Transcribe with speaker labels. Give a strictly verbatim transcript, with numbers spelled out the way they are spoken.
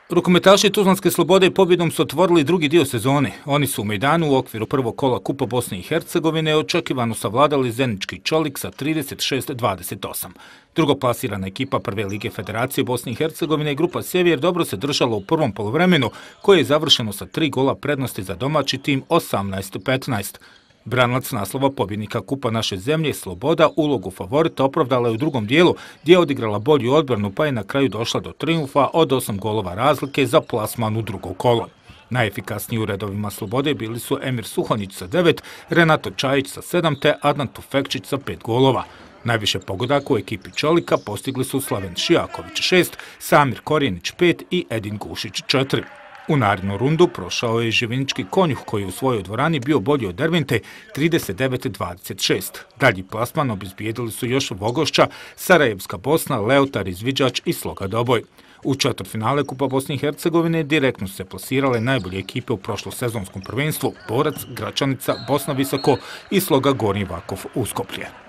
Speaker 1: Rukometaši Tuzlanske Slobode pobjedom su otvorili drugi dio sezone. Oni su u Mejdanu u okviru prvog kola Kupa Bosne i Hercegovine očekivano savladali Zenički Čolik sa trideset šest dvadeset osam. Drugoplasirana ekipa Prve lige Federacije Bosne i Hercegovine i grupa Sjever dobro se držala u prvom poluvremenu, koje je završeno sa tri gola prednosti za domaći tim osamnaest petnaest. Branilac naslova pobjednika Kupa naše zemlje, Sloboda, ulogu favorita opravdala je u drugom dijelu, gdje je odigrala bolju odbranu pa je na kraju došla do trijumfa od osam golova razlike za plasman u drugo kolo. Najefikasniji u redovima Slobode bili su Emir Suhonjić sa devet, Renato Čajić sa sedam te Adnan Tufekčić sa pet golova. Najviše pogodaka u ekipi Čolika postigli su Slaven Šijaković šest, Samir Korjenić pet i Edin Gušić četiri. U narednu rundu prošao je Živinički Konjuh koji u svojoj dvorani bio bolji od Dervente trideset devet dvadeset šest. Dalji plasman obezbijedili su još Vogošća, Sarajevska Bosna, Leotar Izviđač i Sloga Doboj. U četvrtfinale Kupa Bosne i Hercegovine direktno su se plasirale najbolje ekipe u prošlosezonskom prvenstvu: Borac, Gračanica, Bosna Visoko i Sloga Gornji Vakov Uskoplje.